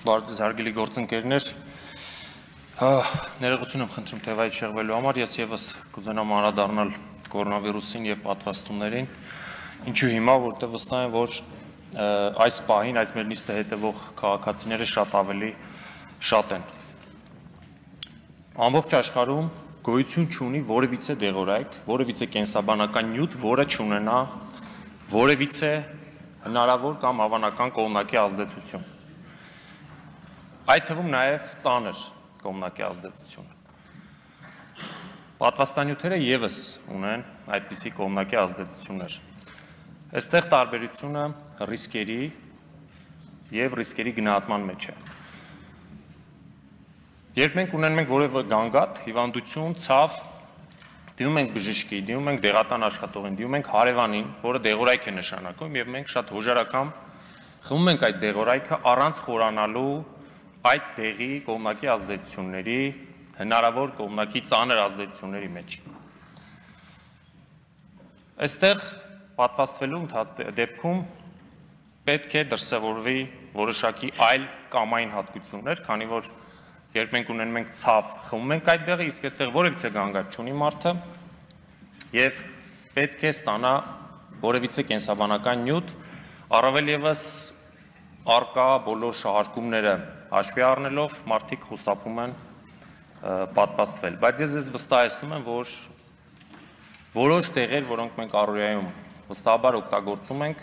Բարդ հարգելի գործընկերներ, ներողություն եմ խնդրում թեվայից շեղվելու համար, ես եւս կուզենամ անդրադառնալ կորոնավիրուսին եւ պատվաստումներին, ինչու հիմա, որտեղ վստահ եմ, որ այս պահին այս մեր նիստը հետևող քաղաքացիները շատ են։ Ամբողջ աշխարհում գոյություն չունի որևիցե դեղորայք, որևիցե կենսաբանական նյութ, որը չունենա որևիցե հնարավոր կամ հավանական կողմնակի ազդեցություն։ Այդ թվում նաև ծանր կողմնակի ազդեցություն։ Պատվաստանյութերը եւս ունեն այդպիսի կողմնակի ազդեցություններ։ Այստեղ տարբերությունը ռիսկերի եւ ռիսկերի գնահատման մեջ է։ Երբ մենք ունենում ենք որևէ գանգատ, հիվանդություն, ցավ, դիմում ենք բժշկի, դիմում ենք դեղատան աշխատողին, դիմում ենք հարևանին, որը դեղորայք է նշանակում եւ մենք շատ հոժարակամ խմում ենք այդ դեղորայքը առանց խորանալու այդ դեղի կողմնակի ազդեցությունների, հնարավոր կողմնակի ծանր ազդեցությունների մեջ։ Այստեղ պատվաստվելու դեպքում պետք է դրսևորվի որոշակի այլ կամային հատկություններ, քանի որ երբ մենք ունենում ենք ցավ, խմում ենք այդ դեղը, իսկ այստեղ որևիցե գանգատ չունի մարդը եւ պետք է ստանա որևիցե կենսաբանական նյութ, առավել եւս արկա բոլոր շահարկումները հաշվի առնելով մարդիկ խուսափում են պատվաստվել, բայց ես վստահեցնում եմ, որ որոշ տեղեր, որոնք մենք առօրյայում վստահաբար օգտագործում ենք,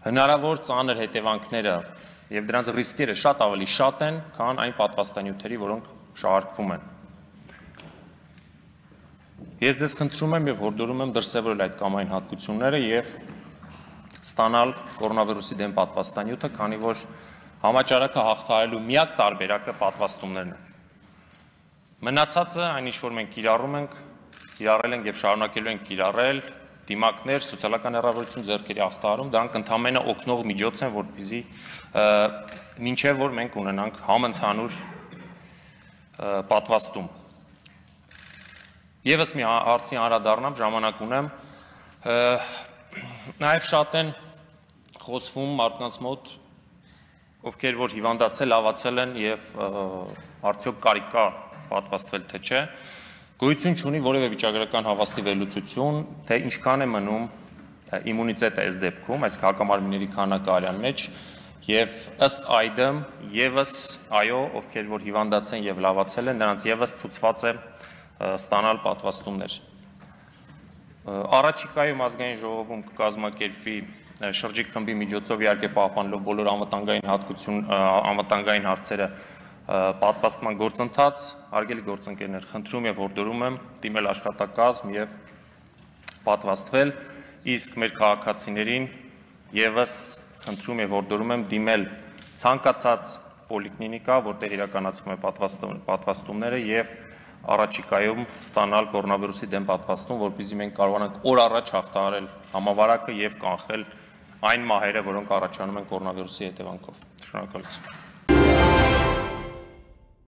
հնարավոր ծանր հետևանքները եւ դրանց ռիսկերը շատ ավելի շատ են, քան այն պատվաստանյութերի, որոնք շահարկվում են։ Ես ձեզ խնդրում եմ եւ հորդորում եմ դրսեւորել այդ կամային հատկությունները եւ ստանալ կորոնավիրուսի դեմ պատվաստանյութը, քանի որ համաճարակը հաղթահարելու միակ տարբերակը պատվաստումներն են։ Մնացածը, այն ինչ որ մենք կիրառել ենք եւ շարունակելու ենք կիրառել, դիմակներ, սոցիալական հեռավորություն ձեռքերի հաղթահարում, դրանք ընդհանրապես օգնող միջոց են, որպեսզի մինչեւ որ մենք ունենանք համընդհանուր պատվաստում։ Եվս մի հարցի անդրադառնամ, ժամանակ ունեմ, նաեւ շատ են խոսվում մարդկանց մոտ, ովքեր որ հիվանդացել, լավացել են եւ արդյոք կարիք կա պատվաստվել թե չէ, գոյություն չունի որևէ վիճակագրական հավաստի վերլուծություն, թե ինչքան է մնում իմունիտետը այս դեպքում, այս հակամարմինների քանակը արյան մեջ եւ ըստ այդմ եւս այո, ովքեր որ հիվանդացել եւ լավացել են, նրանց եւս ցուցված է ստանալ պատվաստումներ։ Առաջիկայում ազգային ժողովում կկազմակերպվի շրջիկ խմբի միջոցով իհարկե պահպանելով բոլոր անվտանգային հարցերը պատվաստման գործընթաց, հարգելի գործընկերներ, խնդրում եւ հորդորում եմ դիմել աշխատակազմ եւ պատվաստվել, իսկ մեր քաղաքացիներին եւս խնդրում եւ հորդորում եմ դիմել ցանկացած պոլիկլինիկա, որտեղ իրականացվում է պատվաստումները եւ առաջիկայում ստանալ կորոնավիրուսի դեմ պատվաստում, որպեսզի մենք կարողանանք օր առաջ հաղթահարել համավարակը եւ կանխել այն մահերը, որոնք առաջանում են կորոնավիրուսի հետևանքով։ Շնորհակալություն։